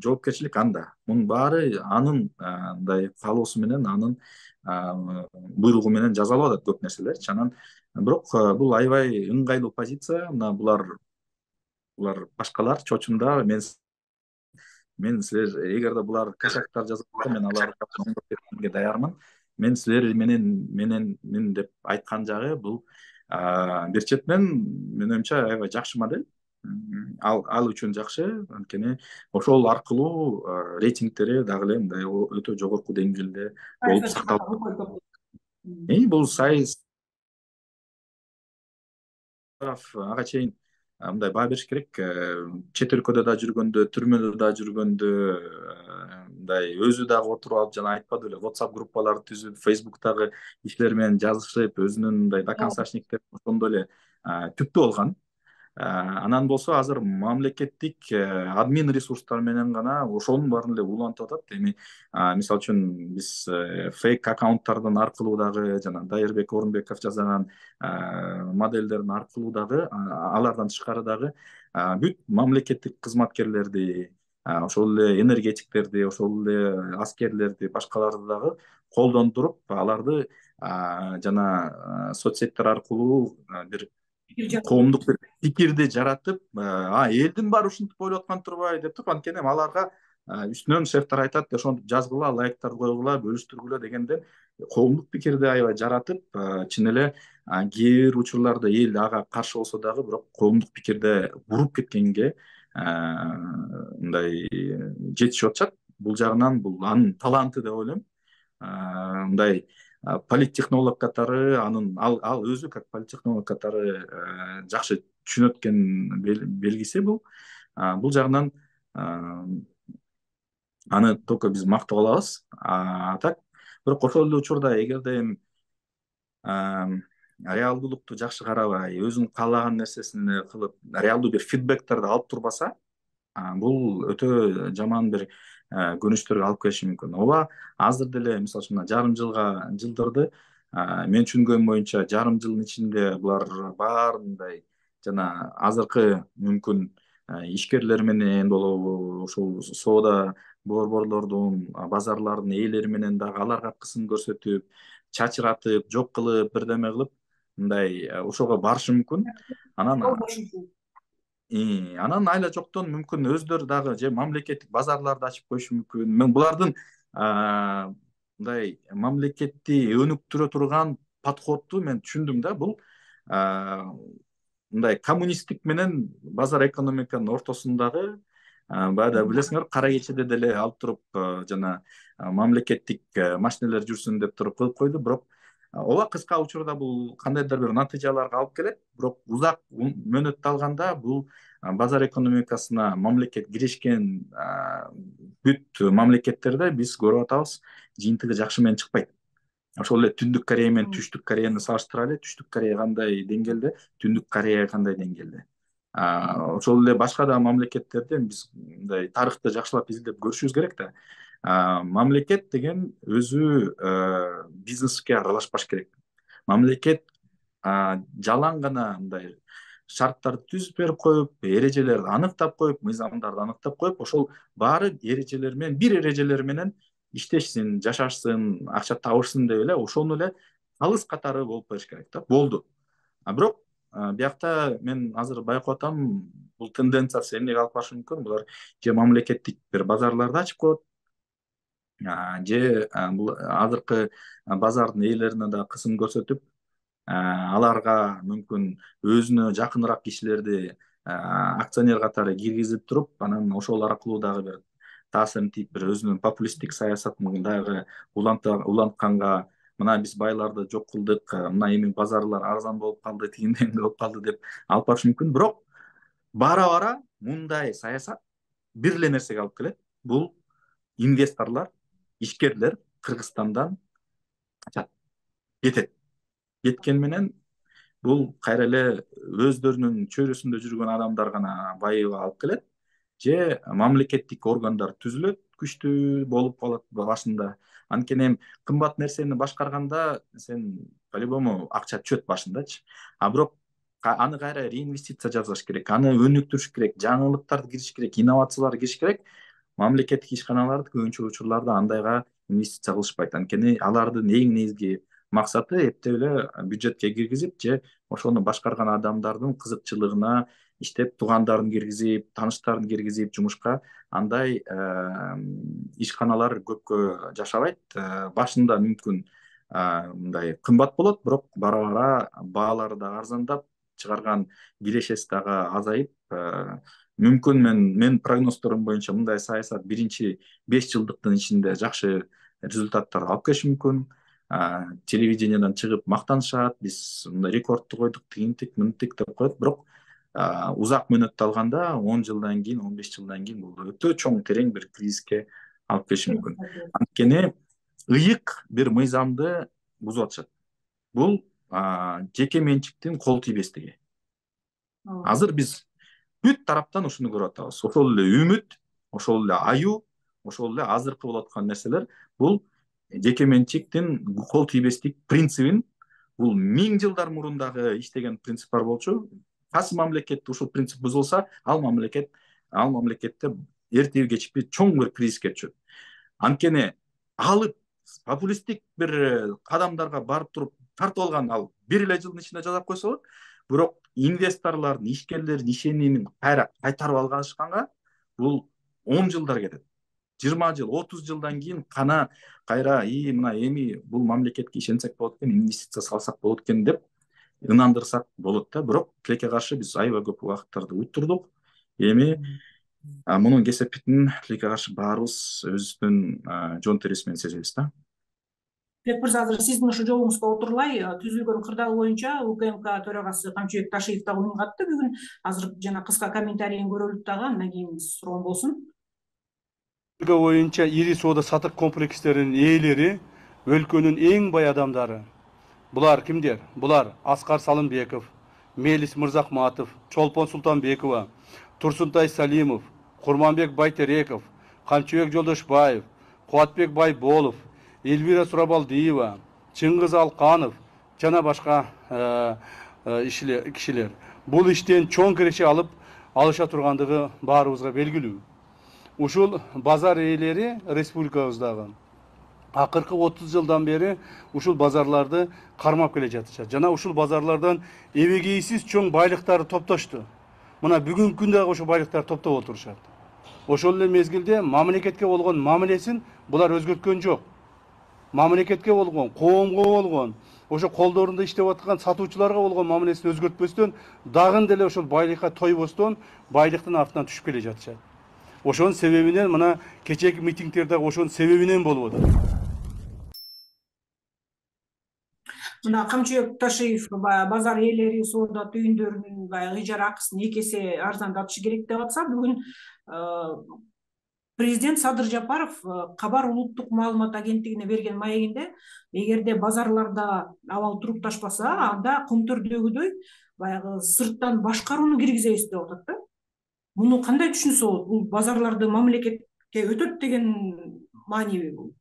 жоопкерчилик анда. Мунун баары анын мындай каалоосу менен, анын буйругу менен жазалып атат көп нерселерчи. Анан бирок бул аябай ыңгайлуу позиция. Мына булар булар башкалар чочунда мен мен силер эгерде булар косяктар жазып атса, мен аларды оңдоп кеткенге даярмын. Мен силер менен менен мен деп айткан жагы бул бир четинен менин оюмча аябай жакшы модель. Ал ал үчүн жакшы, анткени ошол аркылуу рейтингтери дагы эле мындай өтө жогорку деңгээлде болуп сакталат. Э бул сайыс ага чейин мындай баа бериш керек. Чет өлкөдө да жүргөндө, түрмөдө да жүргөндө мындай өзү дагы отуруп алып жана айтпады беле, WhatsApp группаларды түзүп, Facebook'тагы иштер менен жазышып, өзүнүн мындай доконцашниктер ошондой эле түптүү болгон. Анан болсо азыр мамлекеттик админ ресурстар менен гана ошонун баарын эле улантып атат. Эми мисалы үчүн биз фейк аккаунттардын аркылуу дагы жана Дайырбек Орунбеков жасаган модельдердин аркылуу дагы, алардан тышкары дагы бүт мамлекеттик кызматкерлерди, ошол эле энергетиктерди, ошол эле аскерлерди, башкаларды дагы колдонтуруп, аларды жана соцсеттер аркылуу бир коомдук бир пикирди жаратып, а элдин баары ушинтип ойлоп аткан турбайбы деп туруп, анткени аларга үстүнөн шефтер айтат, ошентип жазгыла, лайктарды койгула, бөлүштүргүлө дегенден коомдук пикирди аябай жаратып, чын эле кээ бир учурларда эл ага каршы болсо дагы, бирок коомдук пикирде буруп кеткенге мындай жетишип атышат. Бул жагынан бул анын таланты деп ойлойм. Мындай политтехнолог катары анын ал ал өзү как политтехнолог катары жакшы түшүнөт экен белгиси бул. Бул жагынан аны только биз мактап алабыз. А так бирок ошол эле учурда эгерде реалдуулукту жакшы карабай, өзүнүн каалаган нерсесин кылып, реалдуу бир фидбектерди алып турбаса, бул өтө жаман бир көрүнүштөргө алып келиши мүмкүн. Ооба, азыр деле мисалы үчүн жарым жылга жылдырды. Мен түшүнгөнүм боюнча жарым жылдын ичинде булар баарындай жана азыркы мүмкүн ишкерлер менен болобу, ошол соода борборлордун, базарлардын ээлери менен дагы аларга кысым көрсөтүп, чачыратып, жок кылып, бирдеме кылып, мындай ошого барышы мүмкүн. Анан Анан айла жоктон мүмкүн өздөрү дагы же мамлекеттик базарларды ачып коюшу мүмкүн. Мен булардын мындай мамлекетти өнүктүрө турган подходту мен түшүндүм да. Бул мындай коммунисттик менен базар экономиканын ортосундагы, баягы билесиңер, кара кечеде деле алып туруп жана мамлекеттик машинелер жүрсүн деп туруп кылып койду. Бирок ооба, кыска учурда бул кандайдыр бир натыйжаларга алып келет. Бирок узак мөөнөттү алганда бул базар экономикасына мамлекет киришкен бүт мамлекеттерде биз көрүп атабыз, жыйынтыгы жакшы менен чыкпайт. Ошол эле Түндүк Корея менен Түштүк Кореяны салыштыралы. Түштүк Корея кандай деңгээлде, Түндүк Корея кандай деңгээлде. Ошол эле башка да мамлекеттерде биз мындай тарыхты жакшылап изилдеп көрүшүбүз керек да. Мамлекет деген өзү бизнеске аралашпаш керек. Мамлекет жалаң гана мындай шарттарды түзүп берип коюп, эрежелерди аныктап коюп, мыйзамдарды аныктап коюп, ошол баары эрежелер менен, бир эрежелер менен иштешсин, жашашсын, акча табышсын деп эле ошону эле алыс катары болуп бериш керек да, болду. А бирок биякта мен азыр байкап атам, бул тенденциясы эмнеге алып барышы мүмкүн? Булар же мамлекеттик бир базарларды ачып коет, же бул азыркы базардын ээлерине да кысым көрсөтүп, аларга мүмкүн өзүнө жакыныраак кишилерди акционер катары киргизип туруп, анан ошол аркылуу дагы бир таасирин тийип, бир өзүнүн популисттик саясатын дагы улантканга, мына биз байларды жок кылдык, мына эми базарлар арзан болуп калды, тигиндей болуп калды деп алып барышы мүмкүн. Бирок бара бара мындай саясат бир эле нерсеге алып келет. Бул инвесторлор, ишкерлер Кыргызстандан качат, кетет. Кеткен менен бул кайра эле өздөрүнүн чөйрөсүндө жүргөн адамдар гана байыга алып келет, же мамлекеттик органдар түзүлөт, күчтүү болуп калат башында. Анткени кымбат нерсени башкарганда сен по-любому акча түшөт башындачы. А бирок аны кайра реинвестиция жасаш керек, аны өнүктүрүш керек, жаңылыктарды кириш керек, инновациялар кириш керек. Мамлекеттик ишканалар көбүнчө учурларда андайга инвестиция кылышпайт. Анткени алардын эң негизги максаты эптеп эле бюджетке киргизип, же ошону башкарган адамдардын кызыкчылыгына иштеп, туугандарын киргизип, тааныштарын киргизип жумушка, андай ишканалар көпкө жашабайт. Башында мүмкүн мындай кымбат болот, бирок бара бара баалары да арзандап, чыгарган кирешеси дагы азайып, мүмкүн мен мен прогноздорум боюнча мындай саясат биринчи беш жылдыктын ичинде жакшы результаттар алып келиши мүмкүн. Телевидениеден чыгып мактанышат, биз мындай рекордду койдук, тигинтик, мынтик деп коет, бирок узак мөөнөттө алганда он жылдан кийин, он беш жылдан кийин бул өтө чоң терең бир кризиске алып келиши мүмкүн. Анткени ыйык бир мыйзамды бузуп атышат. Бул жеке менчиктин кол тийбестиги. Азыр биз бүт тараптан ушуну көрүп атабыз. Ошол эле үмүт, ошол эле аюу, ошол эле азыркы болуп аткан нерселер бул жеке менчиктин кол тийбестик принцибин, бул миң жылдар мурун дагы иштеген принциптер болчу. Кайсы мамлекетте ушул принцип бузулса, ал мамлекет ал мамлекетте эртеби кечпи чоң бир кризиске түшөт. Анткени алып популисттик бир кадамдарга барып туруп тартып алган ал бир эле жылдын ичинде жасап койсо болот. Бирок инвесторлордун, ишкерлердин ишенимин кайра кайтарып алышканга бул он жылдар кетет. жыйырма жыл, отуз жылдан кийин кана кайра и мына эми бул мамлекетке ишенсек болот экен, инвестиция салсак болот экен деп ынандырсак болот да. Бирок тилекке каршы биз аябай көп убакыттарды уттурдук. Эми мунун кесепетин тилекке каршы баарыбыз өзүбүздүн жон терisi менен сезебиз да. Бек мырза, азыр сиздин ушу жолуңузга отурулай, түзүлгөн кырдаал боюнча УКМК төрагасы Камчыбек Ташиев дагы үн катты бүгүн. Азыр жана кыска комментарийин көрөлүк дагы, андан кийин суроом болсун. Боюнча ири соода сатык комплекстеринин ээлери өлкөнүн эң бай адамдары. Булар кимдер? Булар Аскар Салымбеков, Мелис Мырзахматов, Чолпон Султанбекова, Турсунтай Салимов, Курманбек Байтереков, Камчыбек Жолдошбаев, Кубатбек Байболов, Эльвира Сурабалдиева, Чыңгыз Алканов жана башка кишилер. Бул иштен чоң киреше алып алыша тургандыгы баарыбызга белгилүү. Ушул базар ээлери республикабыздагы акыркы отуз жылдан бери ушул базарларды кармап келе жатышат. Жана ушул базарлардан эбегейсиз чоң байлыктарды топтошту. Мына бүгүнкү күндө дагы ушул байлыктарды топтоп отурушат. Ошол эле мезгилде мамлекетке болгон мамилесин булар өзгөрткөн жок. Мамлекетке болгон, коомго болгон, ошо колдорунда иштеп аткан сатуучуларга болгон мамилесин өзгөртпөстөн, дагы деле ошол байлыкка тойбостон байлыктын артынан түшүп келе жатышат. Ошонун себебинен мына кечээки митингдерде ошонун себебинен болуп атат. Мына Камчыбек Ташиев базар ээлери соода түйүндөрүнүн баягы ижара акысын эки эсе арзандатышы керек деп атса, бүгүн президент Садыр Жапаров Кабар улуттук маалымат агенттигине берген маегинде, эгерде базарларда абал турукташпаса, анда Көмтөрдөгүдөй баягы сырттан башкарууну киргизебиз деп атат да. Муну кандай түшүнсө болот? Бул базарларды мамлекетке өтөт деген маанеби бул?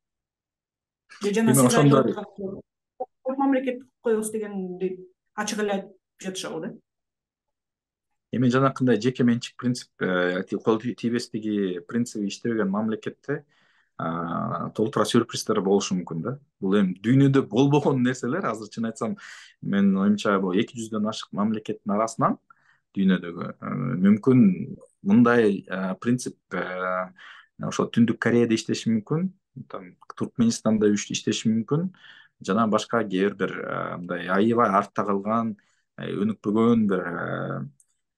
Же жана сиз айтып аткан мамлекеттик коебуз дегенди ачык эле айтып жатышабы да? Эми жанакындай жеке менчик принцип, кол тийбестиги принциби иштебеген мамлекетте толтура сюрприздер болушу мүмкүн да. Бул эми дүйнөдө болбогон нерселер. Азыр чын айтсам, менин оюмча бул эки жүздөн ашык мамлекеттин арасынан дүйнөдөгү мүмкүн мындай принцип ошо Түндүк Кореяда иштеши мүмкүн, Туркменистанда иштеши мүмкүн, жана башка кээ бир мындай аябай артта калган, өнүкпөгөн бир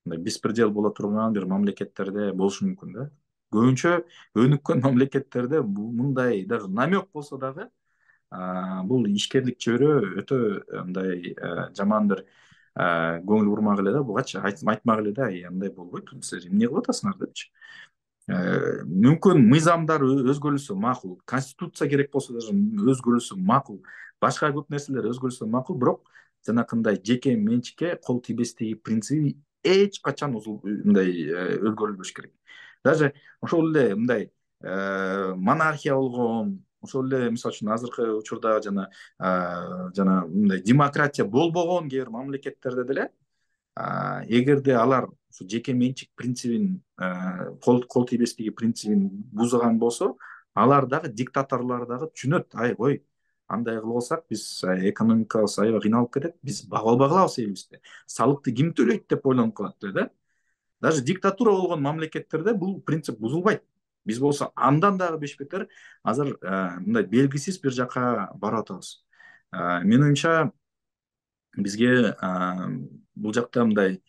мындай беспредел боло турган бир мамлекеттерде болушу мүмкүн да. Көбүнчө өнүккөн мамлекеттерде мындай даже намек болсо дагы бул ишкерлик чөйрө өтө мындай жаман бир көңүл бурмак эле да, бугачы айтмак эле да, андай болбойт, силер эмне кылып атасыңар депчи. Мүмкүн мыйзамдар өзгөрүлсө макул, конституция керек болсо даже өзгөрүлсө макул, башка көп нерселер өзгөрүлсө макул, бирок жанакындай жеке менчикке кол тийбестиги принциби эч качан мындай өзгөрүлбөш керек. Даже ошол эле мындай монархия болгон, ошол эле мисалы үчүн азыркы учурда жана жана мындай демократия болбогон кээ бир мамлекеттерде деле эгерде алар ушу жеке менчик принцибин кол тийбестиги принцибин бузган болсо, алар дагы диктаторлор дагы түшүнөт, ай кой, андай кылып алсак биз экономикабыз аябай кыйналып кетет, биз бага албай калабыз элибизди, салыкты ким төлөйт деп ойлонуп калат да. Даже диктатура болгон мамлекеттерде бул принцип бузулбайт. Биз болсо андан дагы бешбетер азыр мындай белгисиз бир жака барып атабыз. Менин оюмча бизге бул жакта мындай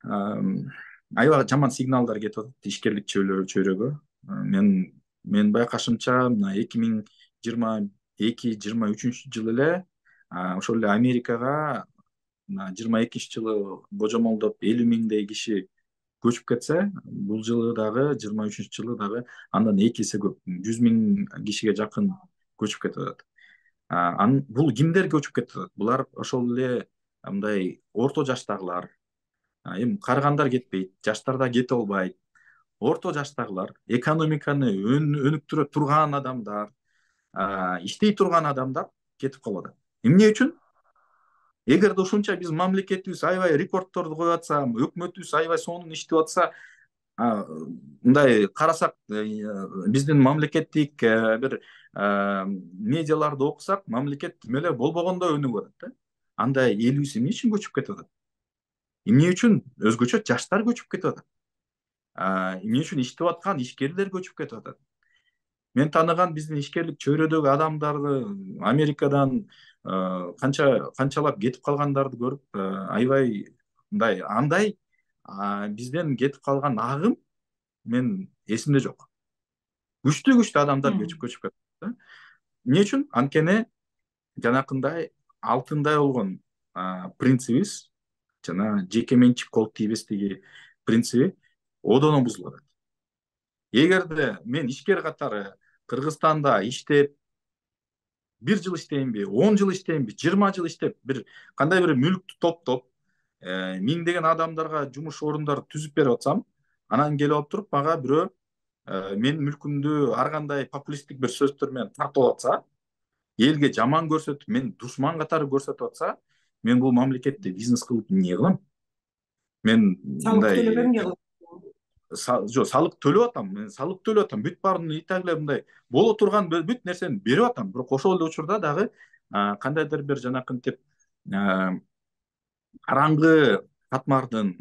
аябай жаман сигналдар кетип атат ишкерлик чөйрөгө. Мен менин байкашымча мына эки миң жыйырма эки жыйырма үчүнчү жылы эле ошол эле Америкага жыйырма экинчи жылы божомолдоп элүү миңдей киши көчүп кетсе, бул жылы дагы жыйырма үчүнчү жылы дагы андан эки эсе көп, жүз миң кишиге жакын көчүп кетип атат. Бул кимдер көчүп кетип атат? Булар ошол эле мындай орто жаштагылар. Эми карыгандар кетпейт, жаштар да кете албайт. Орто жаштагылар, экономиканы өнүктүрө турган адамдар, иштей турган адамдар кетип калып атат. Эмне үчүн? Эгерде ушунча биз мамлекетибиз аябай рекордторду коюп атса, өкмөтүбүз аябай сонун иштеп атса, мындай карасак, биздин мамлекеттик бир медиаларды окусак, мамлекет тим эле болбогондой өнүгүп атат да. Анда элибиз эмне үчүн көчүп кетип атат? Эмне үчүн өзгөчө жаштар көчүп кетип атат? Эмне үчүн иштеп аткан ишкерлер көчүп кетип атат? Мен тааныган биздин ишкерлик чөйрөдөгү адамдарды Америкадан канча канчалап кетип калгандарды көрүп аябай мындай андай бизден кетип калган агым мен эсимде жок. Күчтүү күчтүү адамдар көчүп көчүп кетет. Эмне үчүн? Анткени жанакындай алтындай болгон принцибибиз жана жеке менчик кол тийбестиги принциби одоно бузулат. Эгерде мен ишкер катары Кыргызстанда иштеп бир жыл иштейинби, он жыл иштейинби, жыйырма жыл иштеп, бир кандай бир мүлктү топтоп, миңдеген адамдарга жумуш орундар түзүп берип атсам, анан келип алып туруп мага бирөө менин мүлкүмдү ар кандай популисттик бир сөздөр менен тартып алып атса, элге жаман көрсөтүп, мен душман катары көрсөтүп атса, мен бул мамлекетте бизнес кылып эмне кылам? Мен мындай жок, салык төлөп атам, мен салык төлөп атам, бүт баарын итак эле мындай боло турган бүт нерсени берип атам. Бирок ошол эле учурда дагы кандайдыр бир жанакынтип караңгы катмардын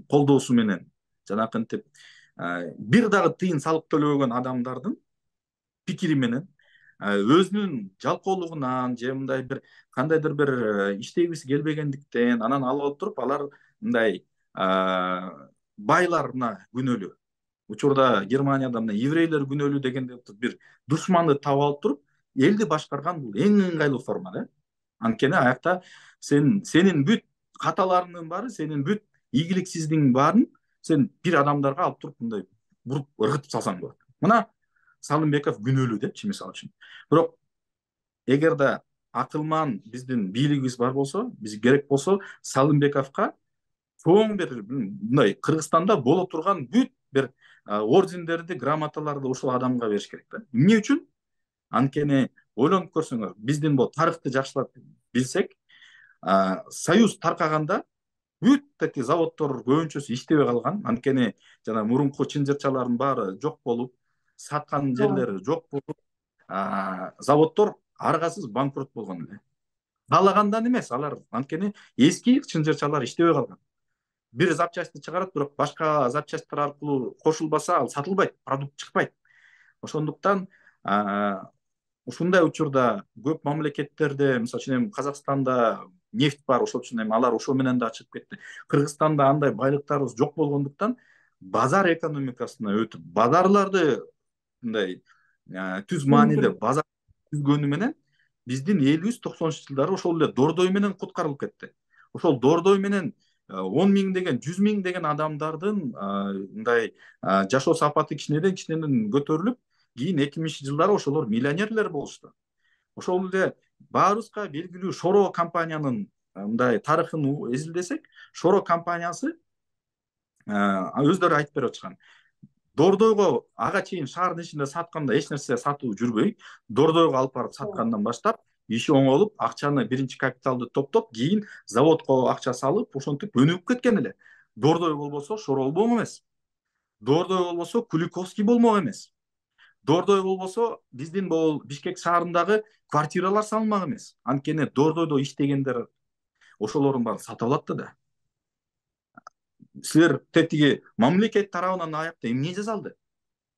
колдоосу менен жанакынтип бир дагы тыйын салык төлөбөгөн адамдардын пикири менен өзүнүн жалкоолугунан же мындай бир кандайдыр бир иштегиси келбегендиктен анан алып алып туруп алар мындай байларына күнөөлүү. Учурда Германияда мына еврейлер күнөөлүү дегенде бир душманды таап алып туруп, элди башкарган бул эң ыңгайлуу форма да. Анткени аякта сен сенин бүт каталарыңдын баары, сенин бүт ийгиликсиздигиң баарын сен бир адамдарга алып туруп мындай буруп ыргытып салсаң болот. Мына Салымбеков күнөөлүү депчи мисалы үчүн. Бирок эгерде акылман биздин бийлигибиз бар болсо, биз керек болсо Салымбековго чоң бир мындай Кыргызстанда боло турган бүт бир ордендерди, грамоталарды ушул адамга бериш керек да. Эмне үчүн? Анткени ойлонуп көрсөңөр, биздин бул тарыхты жакшылап билсек, союз таркаганда бүт эти заводдор көбүнчөсү иштебей калган. Анткени жана мурунку чынжырчалардын баары жок болуп, саткан жерлери жок болуп, заводдор аргасыз банкрот болгон эле. Каалагандан эмес, алар анткени эски чынжырчалар иштебей калган. Бир запчастьты чыгарат, бирок башка запчасттар аркылуу кошулбаса ал сатылбайт, продукт чыкпайт. Ошондуктан ушундай учурда көп мамлекеттерде, мисалы үчүн эми Казакстанда нефть бар, ошол үчүн эми алар ошо менен да чыгып кетти. Кыргызстанда андай байлыктарыбыз жок болгондуктан базар экономикасына өтүп, базарларды мындай түз мааниде базар түзгөнү менен биздин элибиз токсонунчу жылдары ошол эле дордой менен куткарылып кетти. Ошол дордой менен он миң деген, жүз миң деген адамдардын мындай жашоо сапаты кичинеден кичинеден көтөрүлүп, кийин эки миңинчи жылдары ошолор миллионерлер болушту. Ошол эле баарыбызга белгилүү Шоро компаниянын мындай тарыхын изилдесек, Шоро компаниясы өздөрү айтып берип атышкан. Дордойго ага чейин шаардын ичинде сатканда эч нерсе сатуу жүрбөй, Дордойго алып барып саткандан баштап иши оңолуп, акчаны биринчи капиталды топтоп, кийин заводко акча салып, ошентип өнүгүп кеткен эле. Дордой болбосо Шоро болмок эмес. Дордой болбосо Куликовский болмок эмес. Дордой болбосо биздин бул Бишкек шаарындагы квартиралар салынмак эмес. Анткени Дордойдо иштегендер ошолордун баарын сатып алат да. Силер тетиги мамлекет тарабынан аякта эмне жасалды?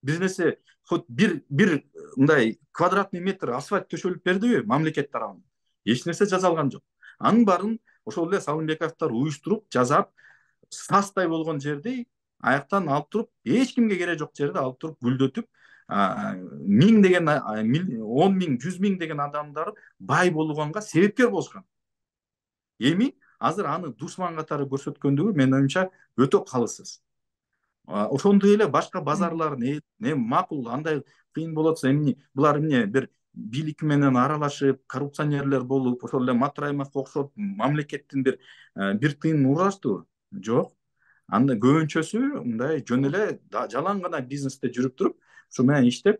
Бир нерсе, хоть бир бир мындай квадратный метр асфальт төшөлүп бердиби мамлекет тарабынан? Эч нерсе жасалган жок. Анын баарын ошол эле Салымбековдор уюштуруп, жасап, састай болгон жерди аяктан алып туруп, эч кимге кереги жок жерди алып туруп гүлдөтүп, миң деген, он миң, жүз миң деген адамдар бай болгонго себепкер болушкан. Эми азыр аны душман катары көрсөткөндүгү менин оюмча өтө калысыз. Ошондой эле башка базарлардын эми макул андай кыйын болот атса, эмне булар эмне бир бийлик менен аралашып, коррупционерлер болуп, ошол эле Матраимовго окшоп мамлекеттин бир бир тыйын урашты? Жок. Анда көбүнчөсү мындай жөн эле жалаң гана бизнесте жүрүп туруп, ушу менен иштеп,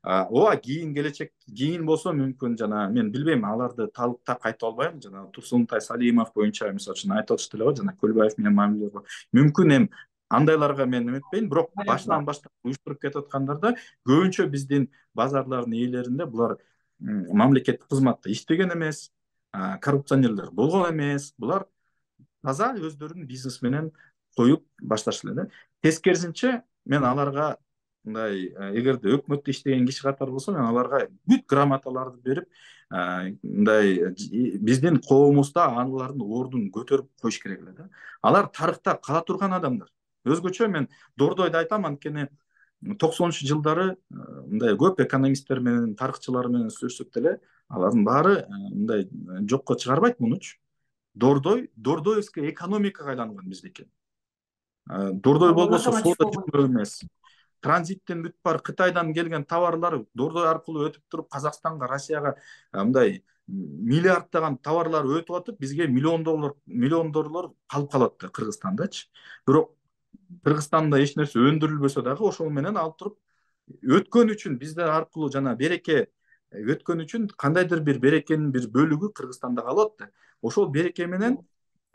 ооба кийин келечек, кийин болсо мүмкүн жана мен билбейм, аларды талыктап айта албайм. Жана Турсунтай Салимов боюнча мисалы үчүн айтып атышты эле го, жана Көлбаев менен мамиле бар. Мүмкүн эми андайларга мен эметпейм, бирок башынан баштап уюштуруп кетип аткандарда көбүнчө биздин базарлардын ээлеринде булар мамлекеттик кызматта иштеген эмес, коррупционерлер болгон эмес. Булар таза өздөрүнүн бизнес менен коюп башташты эле. Тескерисинче мен аларга мындай, эгерде өкмөттө иштеген киши катары болсо, мен аларга бүт грамоталарды берип, мындай биздин коомубузда алардын ордун көтөрүп коюш керек эле да. Алар тарыхта кала турган адамдар. Өзгөчө мен Дордойду айтам, анткени токсонунчу жылдары мындай көп экономисттер менен, тарыхчылар менен сүйлөшсөк деле, алардын баары мындай жокко чыгарбайт мунучу. Дордой, Дордоевская экономикага айланган биздики. Дордой болбосо соода жүрмөк эмес. Транзиттен бүт бар Кытайдан келген товарлар Дордой аркылуу өтүп туруп, Казакстанга, Россияга мындай миллиарддаган товарлар өтүп атып, бизге миллион доллар, миллион доллар калып калат да Кыргызстандачы. Бирок Кыргызстанда эч нерсе өндүрүлбөсө дагы ошол менен алып туруп өткөн үчүн биздер аркылуу жана береке өткөн үчүн кандайдыр бир берекенин бир бөлүгү Кыргызстанда калат да. Ошол береке менен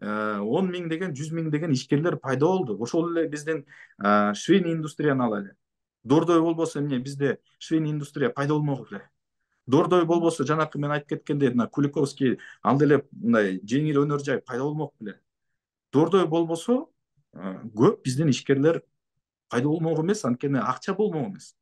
он миң деген, жүз миң деген ишкерлер пайда болду. Ошол эле биздин швейный индустрияны алайлы. Дордой болбосо эмне бизде швейный индустрия пайда болмок эле. Дордой болбосо жанакы мен айтып кеткендей, мына Куликовский ал деле мындай жеңил өнөр жай пайда болмок эле. Дордой болбосо көп биздин ишкерлер пайда болмок эмес, анткени акча болмок эмес.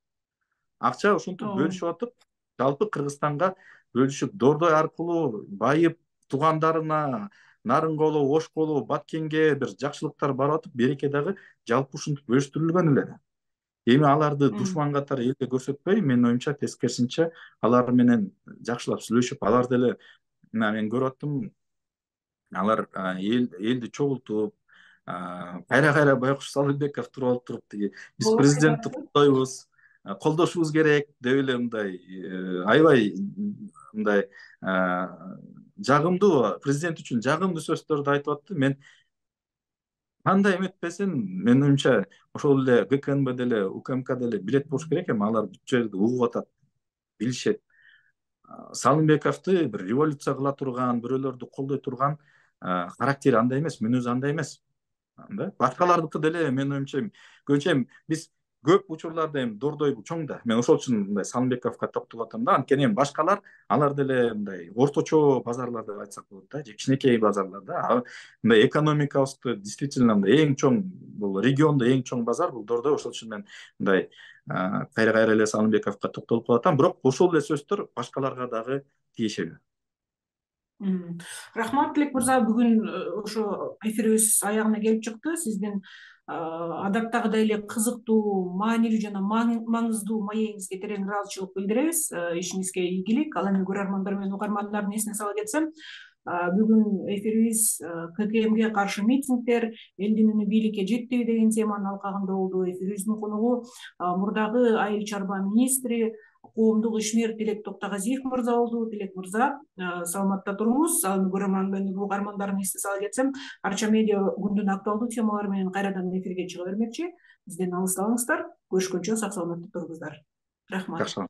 Акча ошентип бөлүшүп атып, жалпы Кыргызстанга бөлүшүп, Дордой аркылуу байып, туугандарына Нарынголо, Ошколо, Баткенге бир жакшылыктар барып атып, береке дагы жалпы ушинтип бөлүштүрүлгөн эле. Эми аларды душман катары элге көрсөтпөй, менин оюмча тескерисинче алар менен жакшылап сүйлөшүп, алар деле мына мен көрүп аттым, алар элди чогултуп, кайра-кайра Байкуш Салымбеков туруп алып туруп, тиги биз президентти колдойбуз, колдошубуз керек деп эле мындай аябай мындай жагымдуу, президент үчүн жагымдуу сөздөрдү айтып атты. Мен кандай эметпесин, менин оюмча ошол эле ГКНБ деле, УКМК деле билет болуш керек эми, алар бүт жерди угуп атат, билишет. Салымбековду бир революция кыла турган, бирөөлөрдү колдой турган характери андай эмес, мүнөзү андай эмес. Башкалардыкы деле менин оюмча көбүнчө биз көп учурларда эми дордой чоң да. Мен ошол үчүн мындай Салымбековго токтолуп атам да. Анткени эми башкалар алар деле мындай орточо базарлар деп айтсак болот да, же кичинекей базарлар да. Мындай экономикабызды действительно мындай эң чоң, бул региондо эң чоң базар бул дордой. Ошол үчүн мен мындай кайра кайра эле Салымбековго токтолуп калатам, бирок ошол эле сөздөр башкаларга дагы тиешелүү. Рахмат, Тилек мырза, бүгүн ошо эфирибиз аягына келип чыкты. Сиздин адаттагыдай эле кызыктуу, маанилүү жана маңыздуу маегиңизге терең ыраазычылык билдиребиз. Ишиңизге ийгилик. Ал эми көрөрмандар менен угармандардын эсине сала кетсем, бүгүн эфирибиз К К Мге каршы митингдер, элдин үнү бийликке жетпеби деген теманын алкагында болду. Эфирибиздин конугу мурдагы айыл чарба министри, коомдук ишмер Тилек Токтогазиев мырза болду. Тилек мырза, саламатта туруңуз. Ал эми көрөрман менен угармандардын эсине сала кетсем, Арча медиа күндүн актуалдуу темалары менен кайрадан эфирге чыга бермекчи. Бизден алыстабаңыздар. Көрүшкөнчө сак саламатта туруңуздар. Рахмат.